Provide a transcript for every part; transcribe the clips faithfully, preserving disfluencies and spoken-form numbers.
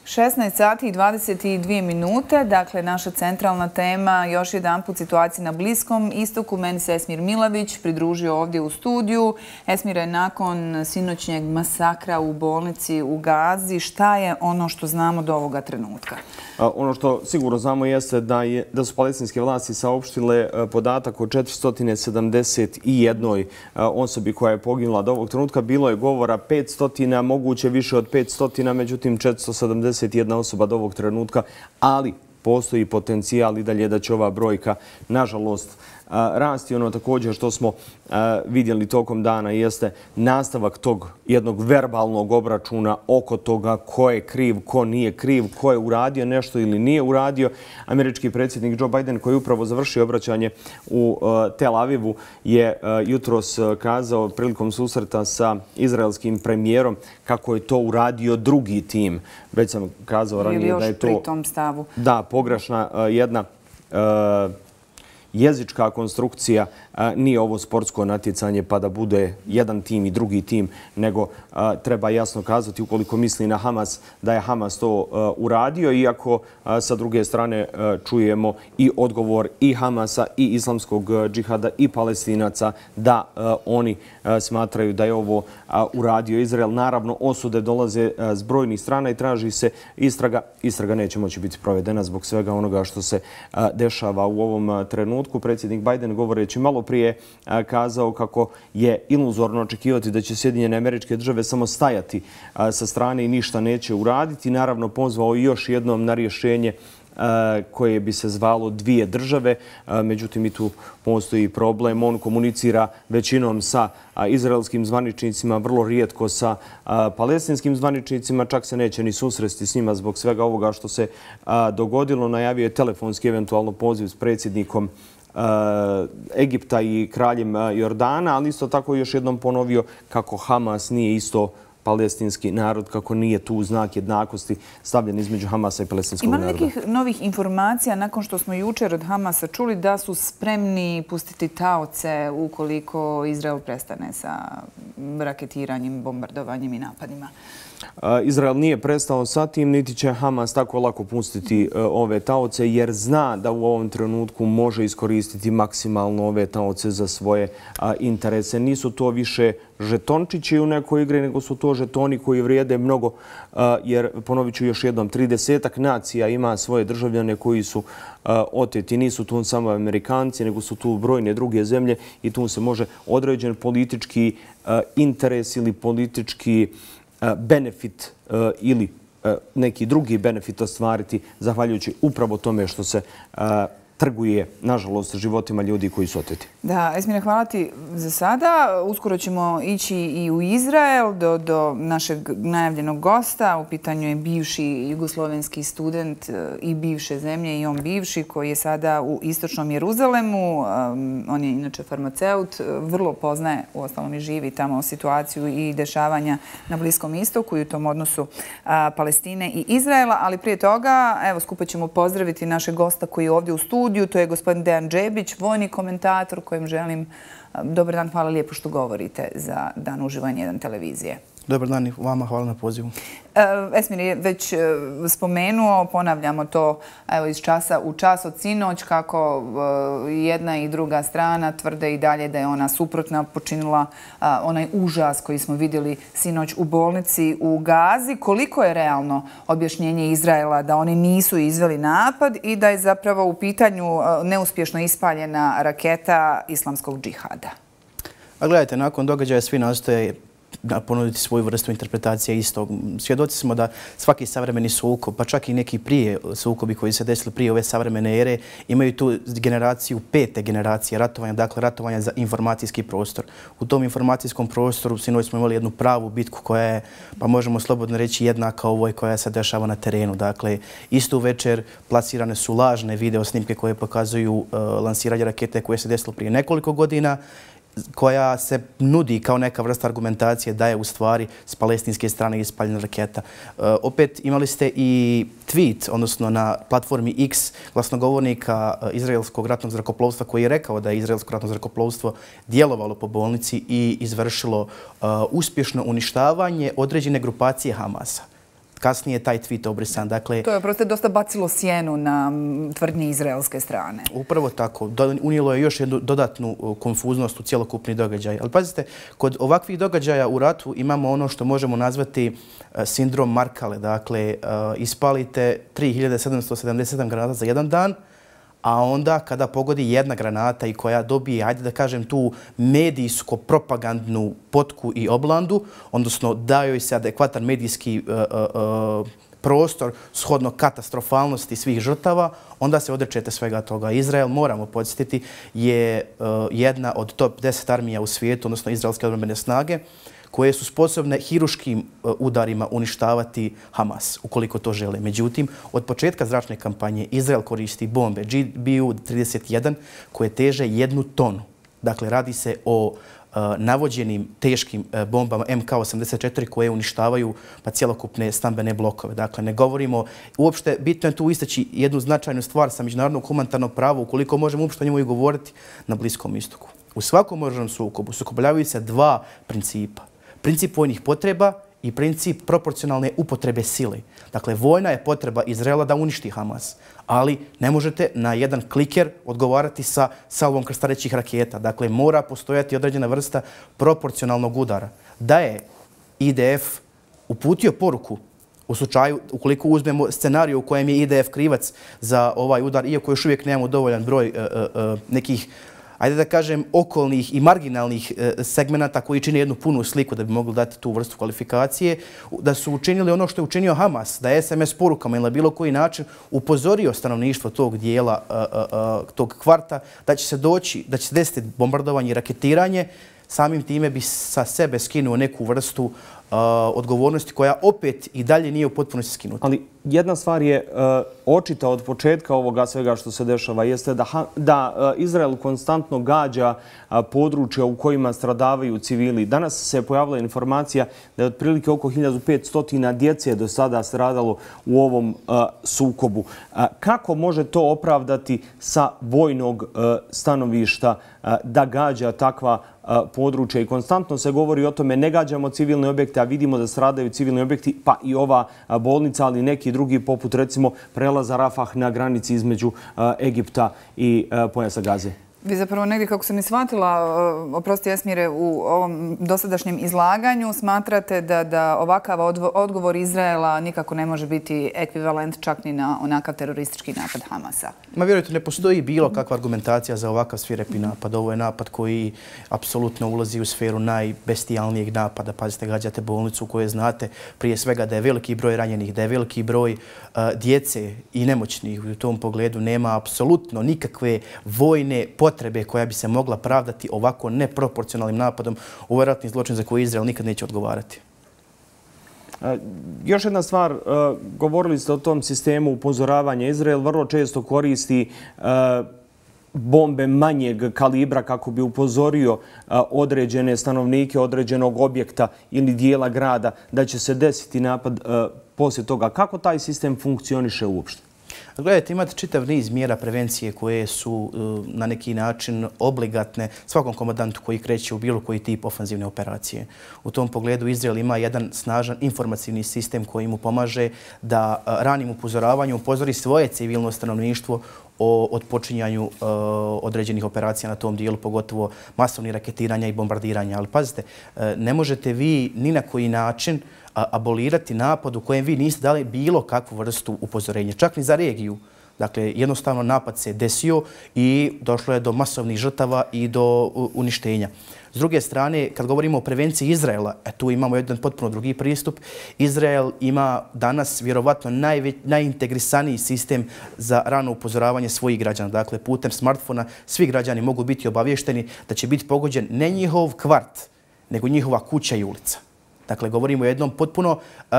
šesnaest sati i dvadeset dvije minute, dakle naša centralna tema, još jedan put situacija na Bliskom istoku. Meni se Esmir Milavić pridružio ovdje u studiju. Esmire, nakon sinoćnjeg masakra u bolnici u Gazi, šta je ono što znamo do ovoga trenutka? Ono što sigurno znamo jeste da, je, da su palestinske vlasti saopštile podatak o četiristo sedamdeset jednoj osobi koja je poginula do ovog trenutka. Bilo je govora petsto, moguće više od petsto, međutim četiristo sedamdeset jedna osoba do ovog trenutka, ali postoji potencijal i dalje da će ova brojka, nažalost, rasti. Ono također što smo vidjeli tokom dana jeste nastavak tog jednog verbalnog obračuna oko toga ko je kriv, ko nije kriv, ko je uradio nešto ili nije uradio. Američki predsjednik Joe Biden, koji je upravo završio obraćanje u Tel Avivu, je jutros kazao prilikom susreta sa izraelskim premijerom kako je to uradio drugi tim. Već sam kazao ranije da je to... Ili još pri tom stavu. Da, pogrešna jedna jezička konstrukcija. Nije ovo sportsko natjecanje pa da bude jedan tim i drugi tim, nego treba jasno kazati ukoliko misli na Hamas da je Hamas to uradio, iako sa druge strane čujemo i odgovor i Hamasa i islamskog džihada i Palestinaca da oni smatraju da je ovo uradio Izrael. Naravno, osude dolaze s brojnih strana i traži se istraga. Istraga neće moći biti provedena zbog svega onoga što se dešava u ovom trenutku. Predsjednik Biden, govoreći malo prije, kazao kako je iluzorno očekivati da će Sjedinjene Američke Države samo stajati sa strane i ništa neće uraditi. Naravno, pozvao još jednom na rješenje koje bi se zvalo dvije države. Međutim, i tu postoji problem. On komunicira većinom sa izraelskim zvaničnicima, vrlo rijetko sa palestinskim zvaničnicima. Čak se neće ni susresti s njima zbog svega ovoga što se dogodilo. Najavio je telefonski eventualno poziv s predsjednikom Egipta i kraljem Jordana, ali isto tako još jednom ponovio kako Hamas nije isto palestinski narod, kako nije tu znak jednakosti stavljen između Hamasa i palestinskog naroda. Ima nekih novih informacija nakon što smo jučer od Hamasa čuli da su spremni pustiti taoce ukoliko Izrael prestane sa raketiranjem, bombardovanjem i napadima? Izrael nije prestao sa tim, niti će Hamas tako lako pustiti ove taoce, jer zna da u ovom trenutku može iskoristiti maksimalno ove taoce za svoje interese. Nisu to više žetončići u nekoj igri, nego su to žetoni koji vrijede mnogo, jer, ponovit ću još jednom, tridesetak nacija ima svoje državljane koji su oteti. Nisu tu samo Amerikanci, nego su tu brojne druge zemlje i tu se može određen politički interes ili politički benefit ili neki drugi benefit ostvariti zahvaljujući upravo tome što se trguje, nažalost, životima ljudi koji su oteti. Da, Esmire, hvala ti za sada. Uskoro ćemo ići i u Izrael do, do našeg najavljenog gosta. U pitanju je bivši jugoslovenski student i bivše zemlje i on bivši koji je sada u istočnom Jeruzalemu. On je inače farmaceut, vrlo poznaje, uostalom i živi tamo situaciju i dešavanja na Bliskom istoku i u tom odnosu Palestine i Izraela. Ali prije toga, evo, skupa ćemo pozdraviti našeg gosta koji je ovdje u studiju. To je gospodin Dejan Džebić, vojni komentator kojem želim dobar dan, hvala lijepo što govorite za Dan uživo jedan televizije. Dobar dan i vama, hvala na pozivu. Esmir je već spomenuo, ponavljamo to evo, iz časa u čas od sinoć, kako jedna i druga strana tvrde i dalje da je ona suprotna počinila onaj užas koji smo vidjeli sinoć u bolnici u Gazi. Koliko je realno objašnjenje Izraela da oni nisu izveli napad i da je zapravo u pitanju neuspješno ispaljena raketa islamskog džihada? A gledajte, nakon događaja svi nastoje ponuditi svoju vrstu interpretacije istog. Svjedoci smo da svaki savremeni sukob, pa čak i neki prije sukobi koji se desili prije ove savremene ere, imaju tu generaciju pete generacije ratovanja, dakle ratovanja za informacijski prostor. U tom informacijskom prostoru sinoć smo imali jednu pravu bitku koja je, pa možemo slobodno reći, jednaka ovoj koja se dešava na terenu. Dakle, istu večer plasirane su lažne video snimke koje pokazuju uh, lansiranje rakete koje se desilo prije nekoliko godina, koja se nudi kao neka vrsta argumentacije da je u stvari s palestinske strane ispaljena raketa. E, opet imali ste i tweet, odnosno na platformi X, glasnogovornika izraelskog ratnog zrakoplovstva koji je rekao da je izraelsko ratno zrakoplovstvo djelovalo po bolnici i izvršilo uh, uspješno uništavanje određene grupacije Hamasa. kasnije taj tweet obrisan. Dakle, to je prosto dosta bacilo sjenu na tvrdnje izraelske strane. Upravo tako. Unijelo je još jednu dodatnu konfuznost u cjelokupni događaj. Ali pazite, kod ovakvih događaja u ratu imamo ono što možemo nazvati sindrom Markale. Dakle, ispalite tri hiljade sedamsto sedamdeset sedam granata za jedan dan, a onda kada pogodi jedna granata i koja dobije, ajde da kažem, tu medijsko-propagandnu potku i oblandu, odnosno daju se adekvatan medijski uh, uh, prostor shodno katastrofalnosti svih žrtava, onda se odrečete svega toga. Izrael, moramo podsjetiti, je uh, jedna od top deset armija u svijetu, odnosno izraelske obrambene snage, koje su sposobne hiruškim udarima uništavati Hamas, ukoliko to žele. Međutim, od početka zračne kampanje Izrael koristi bombe G B U trideset jedan koje teže jednu tonu. Dakle, radi se o uh, navođenim teškim uh, bombama M K osamdeset četiri koje uništavaju pa cjelokupne stambene blokove. Dakle, ne govorimo, uopšte bitno je tu istaći jednu značajnu stvar sa međunarodnog humanitarnog prava, ukoliko možemo uopšte o njemu i govoriti na Bliskom istoku. U svakom oružanom sukobu sukobljavaju se dva principa. Princip vojnih potreba i princip proporcionalne upotrebe sile. Dakle, vojna je potreba Izraela da uništi Hamas, ali ne možete na jedan kliker odgovarati sa salvom krstarećih raketa. Dakle, mora postojati određena vrsta proporcionalnog udara. Da je I D F uputio poruku u slučaju, ukoliko uzmemo scenariju u kojem je I D F krivac za ovaj udar, iako još uvijek nemamo dovoljan broj uh, uh, nekih, ajde da kažem, okolnih i marginalnih segmenata koji čine jednu punu sliku da bi mogli dati tu vrstu kvalifikacije, da su učinili ono što je učinio Hamas, da je S M S porukama ili na bilo koji način upozorio stanovništvo tog dijela, tog kvarta, da će se doći, da će se desiti bombardovanje i raketiranje, samim time bi sa sebe skinuo neku vrstu uh, odgovornosti koja opet i dalje nije u potpunosti skinuta. Ali jedna stvar je uh, očita od početka ovoga svega što se dešava, jeste da, da uh, Izrael konstantno gađa uh, područja u kojima stradavaju civili. Danas se pojavila informacija da je otprilike oko hiljadu petsto djece do sada stradalo u ovom uh, sukobu. Uh, kako može to opravdati sa vojnog uh, stanovišta uh, da gađa takva područja i konstantno se govori o tome ne gađamo civilne objekte, a vidimo da stradaju civilni objekti, pa i ova bolnica, ali neki drugi poput recimo prelaza Rafah na granici između Egipta i pojasa Gaze. Vi zapravo negdje, kako sam i shvatila, oprosti Esmire, u ovom dosadašnjem izlaganju smatrate da, da ovakav odgovor Izraela nikako ne može biti ekvivalent čak ni na onakav teroristički napad Hamasa. Ma vjerujte, ne postoji bilo kakva argumentacija za ovakav svirepi napad. Ovo je napad koji apsolutno ulazi u sferu najbestijalnijeg napada. Pazite, gađate bolnicu u kojoj znate prije svega da je veliki broj ranjenih, da je veliki broj uh, djece i nemoćnih. U tom pogledu nema apsolutno nikakve vojne potrebe koja bi se mogla pravdati ovako neproporcionalnim napadom u ratni zločin za koji Izrael nikad neće odgovarati. Još jedna stvar, govorili ste o tom sistemu upozoravanja. Izrael vrlo često koristi bombe manjeg kalibra kako bi upozorio određene stanovnike određenog objekta ili dijela grada da će se desiti napad poslije toga. Kako taj sistem funkcioniše uopšte? Gledajte, imate čitav niz mjera prevencije koje su na neki način obligatne svakom komandantu koji kreće u bilo koji tip ofanzivne operacije. U tom pogledu Izrael ima jedan snažan informacijni sistem koji mu pomaže da ranim upozoravanjem upozori svoje civilno stanovništvo o odpočinjanju uh, određenih operacija na tom dijelu, pogotovo masovnih raketiranja i bombardiranja. Ali pazite, uh, ne možete vi ni na koji način uh, abolirati napad u kojem vi niste dali bilo kakvu vrstu upozorenja, čak ni za regiju. Dakle, jednostavno napad se desio i došlo je do masovnih žrtava i do uh, uništenja. S druge strane, kad govorimo o prevenciji Izraela, e, tu imamo jedan potpuno drugi pristup. Izrael ima danas vjerovatno najve, najintegrisaniji sistem za rano upozoravanje svojih građana. Dakle, putem smartfona svi građani mogu biti obavješteni da će biti pogođen ne njihov kvart, nego njihova kuća i ulica. Dakle, govorimo o jednom potpuno uh,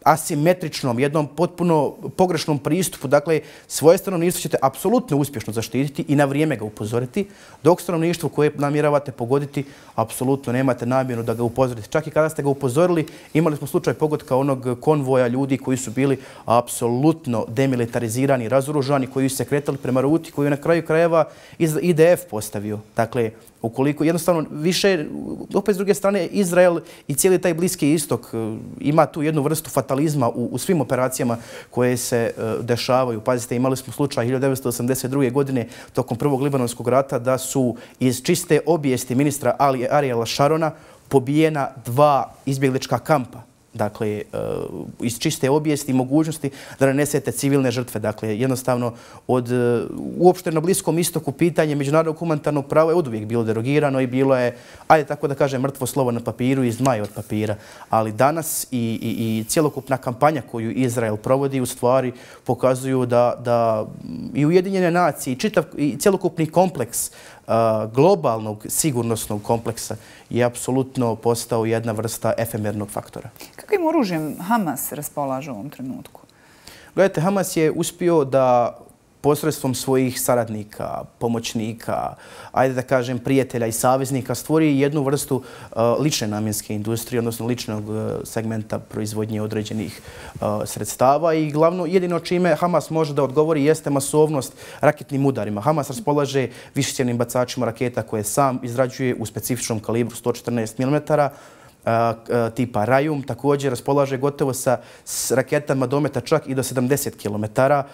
asimetričnom, jednom potpuno pogrešnom pristupu. Dakle, svoje stanovništvo ćete apsolutno uspješno zaštititi i na vrijeme ga upozoriti, dok stanovništvo koje namjeravate pogoditi, apsolutno nemate namjeru da ga upozorite. Čak i kada ste ga upozorili, imali smo slučaj pogodka onog konvoja ljudi koji su bili apsolutno demilitarizirani, razoružani, koji su se kretali prema ruti, koju je na kraju krajeva I D F postavio. Dakle, Ukoliko jednostavno više, opet s druge strane, Izrael i cijeli taj Bliski istok ima tu jednu vrstu fatalizma u, u svim operacijama koje se uh, dešavaju. Pazite, imali smo slučaj hiljadu devetsto osamdeset druge. godine tokom prvog libanonskog rata da su iz čiste obijesti ministra Ali, Ariela Šarona pobijena dva izbjeglička kampa. Dakle, iz čiste obijesti i mogućnosti da nanesete civilne žrtve. Dakle, jednostavno, od, uopšte na Bliskom istoku pitanje međunarodnog humanitarnog prava je oduvijek bilo derogirano i bilo je, ajde tako da kažem, mrtvo slovo na papiru i zmaj od papira. Ali danas i, i, i cjelokupna kampanja koju Izrael provodi u stvari pokazuju da, da i Ujedinjene nacije i, čitav, i cjelokupni kompleks globalnog sigurnosnog kompleksa je apsolutno postao jedna vrsta efemernog faktora. Kakvim oružjem Hamas raspolaže u ovom trenutku? Gledajte, Hamas je uspio da posredstvom svojih saradnika, pomoćnika, ajde da kažem prijatelja i saveznika, stvori jednu vrstu uh, lične namjenske industrije, odnosno ličnog uh, segmenta proizvodnje određenih uh, sredstava i glavno jedino čime Hamas može da odgovori jeste masovnost raketnim udarima. Hamas raspolaže višecjevnim bacačima raketa koje sam izrađuje u specifičnom kalibru sto četrnaest milimetara, tipa Rajum, također raspolaže gotovo sa raketama dometa čak i do sedamdeset kilometara.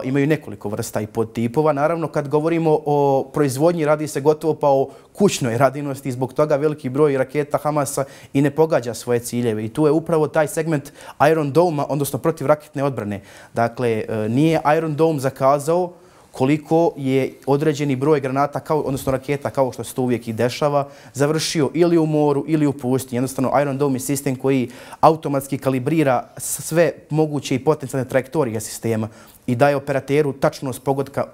Imaju nekoliko vrsta i podtipova. Naravno, kad govorimo o proizvodnji, radi se gotovo pa o kućnoj radinosti i zbog toga veliki broj raketa Hamasa i ne pogađa svoje ciljeve. I tu je upravo taj segment Iron Dome-a, odnosno protivraketne odbrane. Dakle, nije Iron Dome zakazao koliko je određeni broj granata, kao, odnosno raketa, kao što se to uvijek i dešava, završio ili u moru ili u pustinji. Jednostavno, Iron Dome je sistem koji automatski kalibrira sve moguće i potencijalne trajektorije sistema i daje operateru tačnost pogotka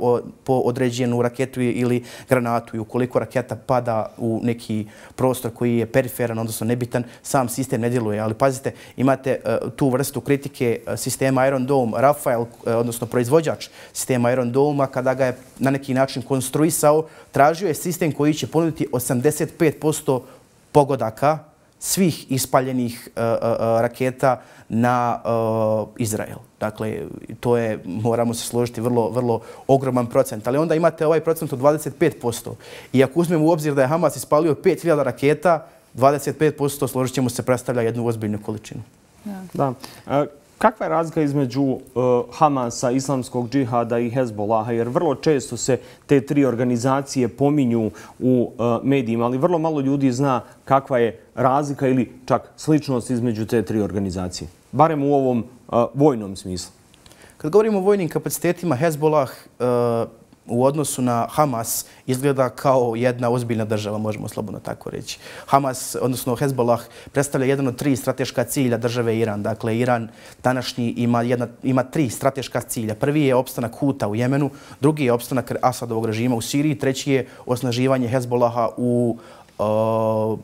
po određenu raketu ili granatu. I ukoliko raketa pada u neki prostor koji je periferan, odnosno nebitan, sam sistem ne djeluje. Ali pazite, imate uh, tu vrstu kritike sistema Iron Dome. Rafael, uh, odnosno proizvođač sistema Iron Dome-a, kada ga je na neki način konstruisao, tražio je sistem koji će ponuditi osamdeset pet posto pogodaka svih ispaljenih uh, uh, raketa na uh, Izrael. Dakle, to je, moramo se složiti, vrlo, vrlo ogroman procent. Ali onda imate ovaj procent od dvadeset pet posto. I ako uzmemo u obzir da je Hamas ispalio pet hiljada raketa, dvadeset pet posto, složit ćemo se, predstavlja jednu ozbiljnu količinu. Da. da. Uh, Kakva je razlika između uh, Hamasa, Islamskog džihada i Hezbolaha? Jer vrlo često se te tri organizacije pominju u uh, medijima, ali vrlo malo ljudi zna kakva je razlika ili čak sličnost između te tri organizacije. Barem u ovom uh, vojnom smislu. Kad govorimo o vojnim kapacitetima, Hezbolah uh, u odnosu na Hamas izgleda kao jedna ozbiljna država, možemo slobodno tako reći. Hamas, odnosno Hezbolah, predstavlja jedan od tri strateška cilja države Iran. Dakle, Iran današnji ima, jedna, ima tri strateška cilja. Prvi je opstanak Huta u Jemenu, drugi je opstanak Asadovog režima u Siriji, treći je osnaživanje Hezbolaha u uh,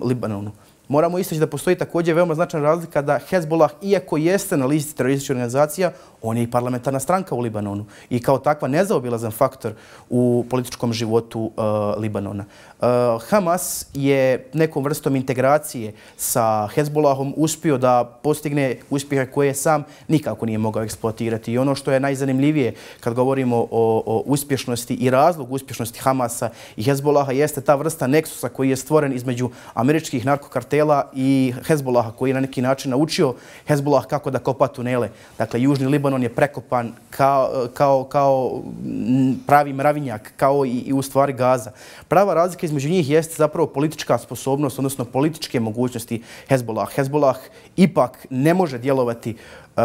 Libanonu. Moramo istaći da postoji također veoma značajna razlika da Hezbolah, iako jeste na listi terorističkih organizacija, on je i parlamentarna stranka u Libanonu i kao takva nezaobilazan faktor u političkom životu uh, Libanona. Uh, Hamas je nekom vrstom integracije sa Hezbolahom uspio da postigne uspjehe koje sam nikako nije mogao eksploatirati. I ono što je najzanimljivije kad govorimo o, o uspješnosti i razlog uspješnosti Hamasa i Hezbolaha jeste ta vrsta neksusa koji je stvoren između američkih narkokartela i Hezbolaha koji je na neki način naučio Hezbolah kako da kopa tunele. Dakle, Južni Libanon je prekopan kao, kao, kao pravi mravinjak, kao i, i u stvari Gaza. Prava razlika između njih jeste zapravo politička sposobnost, odnosno političke mogućnosti Hezbolah. Hezbolah ipak ne može djelovati uh,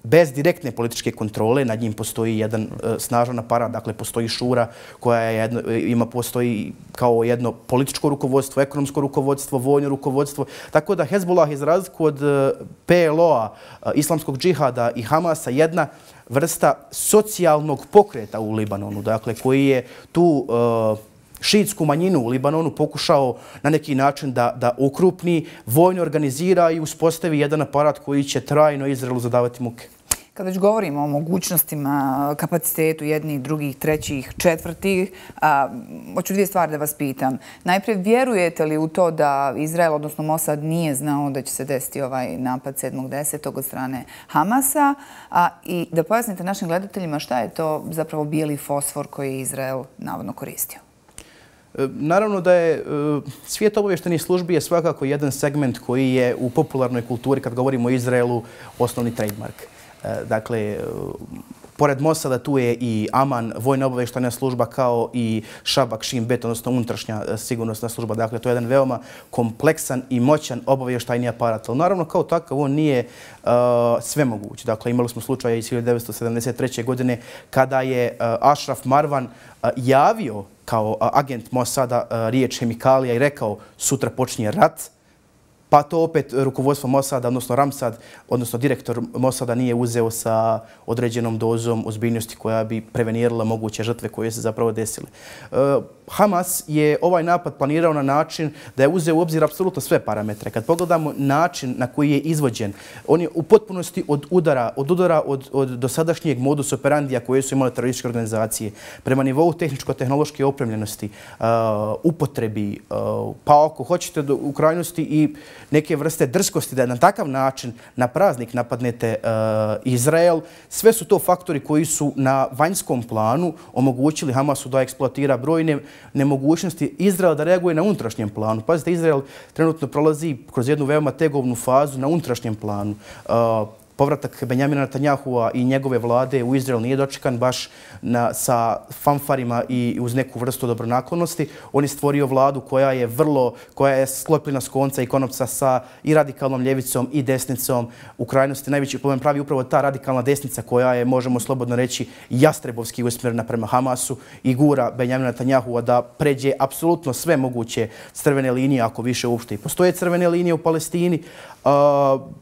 bez direktne političke kontrole. Nad njim postoji jedan uh, snažan aparat, dakle postoji šura koja je jedno, ima postoji kao jedno političko rukovodstvo, ekonomsko rukovodstvo, vojno rukovodstvo. Tako da Hezbolah je za razliku od uh, P L O-a, uh, Islamskog džihada i Hamasa jedna vrsta socijalnog pokreta u Libanonu, dakle koji je tu uh, šiitsku manjinu u Libanonu pokušao na neki način da, da ukrupni, vojno organizira i uspostavi jedan aparat koji će trajno Izraelu zadavati muke. Kad već govorimo o mogućnostima, kapacitetu jednih, drugih, trećih, četvrtih, a, hoću dvije stvari da vas pitam. Najprije, vjerujete li u to da Izrael, odnosno Mossad, nije znao da će se desiti ovaj napad sedmog desetog od strane Hamasa? A, i da pojasnite našim gledateljima šta je to zapravo bijeli fosfor koji je Izrael navodno koristio? Naravno da je svijet obavještajnih službi je svakako jedan segment koji je u popularnoj kulturi, kad govorimo o Izraelu, osnovni trademark. Dakle, pored Mosada tu je i Aman, vojna obavještajna služba, kao i Šabak, Shin Bet, odnosno unutrašnja sigurnosna služba. Dakle, to je jedan veoma kompleksan i moćan obavještajni aparat. Ali naravno, kao takav, on nije uh, svemoguć. Dakle, imali smo slučaje iz hiljadu devetsto sedamdeset treće. godine kada je uh, Ashraf Marwan uh, javio kao uh, agent Mosada uh, riječ hemikalija i rekao sutra počinje rat. Pa to opet rukovodstvo Mosada, odnosno Ramsad, odnosno direktor Mosada nije uzeo sa određenom dozom ozbiljnosti koja bi prevenirala moguće žrtve koje se zapravo desile. Hamas je ovaj napad planirao na način da je uzeo u obzir apsolutno sve parametre. Kad pogledamo način na koji je izvođen, on je u potpunosti od udara, od udara od, od dosadašnjeg modus operandija koje su imale terorističke organizacije, prema nivou tehničko-tehnološke opremljenosti, uh, upotrebi, uh, pa ako hoćete do, u krajnosti i neke vrste drskosti da na takav način na praznik napadnete uh, Izrael. Sve su to faktori koji su na vanjskom planu omogućili Hamasu da eksploatira brojne nemogućnosti Izraela da reaguje na unutrašnjem planu. Pazite, Izrael trenutno prolazi kroz jednu veoma tegovnu fazu na unutrašnjem planu. Uh, Povratak Benjamina Netanjahua i njegove vlade u Izrael nije dočekan baš na, sa fanfarima i uz neku vrstu dobronaklonosti. On je stvorio vladu koja je vrlo, koja je sklopljena s konca i konopca sa i radikalnom ljevicom i desnicom. U krajnosti najveći problem pravi upravo ta radikalna desnica koja je, možemo slobodno reći, jastrebovski usmjerena prema Hamasu i gura Benjamina Netanjahua da pređe apsolutno sve moguće crvene linije, ako više uopšte i postoje crvene linije u Palestini. Uh,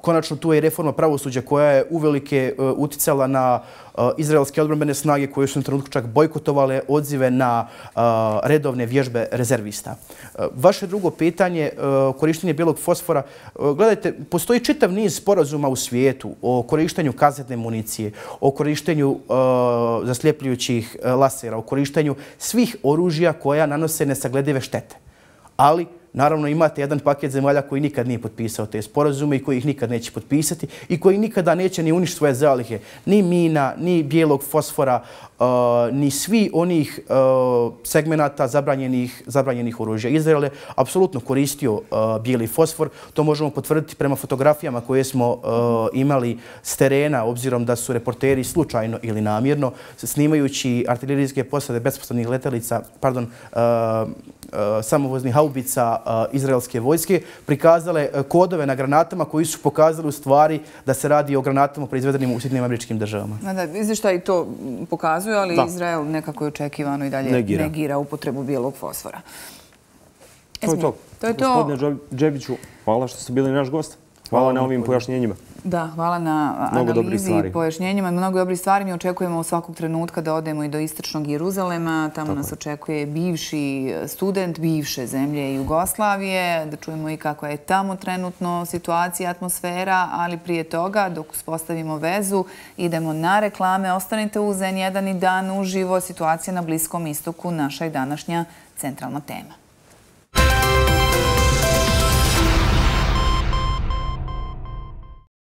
konačno tu je reforma pravosuđa koja je uvelike uh, uticala na uh, izraelske odbrambene snage koje su na trenutku čak bojkotovale odzive na uh, redovne vježbe rezervista. Uh, vaše drugo pitanje, uh, korištenje bijelog fosfora. Uh, gledajte, postoji čitav niz sporazuma u svijetu o korištenju kazetne municije, o korištenju uh, zasljepljujućih uh, lasera, o korištenju svih oružja koja nanose nesagledive štete. Ali naravno, imate jedan paket zemalja koji nikad nije potpisao te sporazume i koji ih nikad neće potpisati i koji nikada neće ni uništiti svoje zalihe. Ni mina, ni bijelog fosfora, uh, ni svi onih uh, segmenata zabranjenih, zabranjenih oružja. Izrael je apsolutno koristio uh, bijeli fosfor. To možemo potvrditi prema fotografijama koje smo uh, imali s terena, obzirom da su reporteri slučajno ili namjerno, snimajući artiljerijske posade bespostavnih letelica, pardon, uh, uh, samovoznih haubica izraelske vojske, prikazale kodove na granatama koji su pokazali u stvari da se radi o granatama proizvedenim u Sjedinjenim Američkim Državama. Da, izvještaj to pokazuje, ali da. Izrael nekako je očekivano i dalje negira, negira upotrebu bijelog fosfora. To je to. To je to. Gospodine Džebiću, hvala što ste bili naš gost. Hvala, hvala na ovim pojašnjenjima. Da, hvala na analizi i pojašnjenjima. Mnogo dobrih stvari. Mi očekujemo u svakog trenutka da odemo i do istočnog Jeruzalema. Tamo Tako. nas očekuje bivši student bivše zemlje Jugoslavije. Da čujemo i kako je tamo trenutno situacija, atmosfera, ali prije toga, dok uspostavimo vezu, idemo na reklame. Ostanite uz en jedan i dan uživo. Situacija na Bliskom istoku, naša i današnja centralna tema.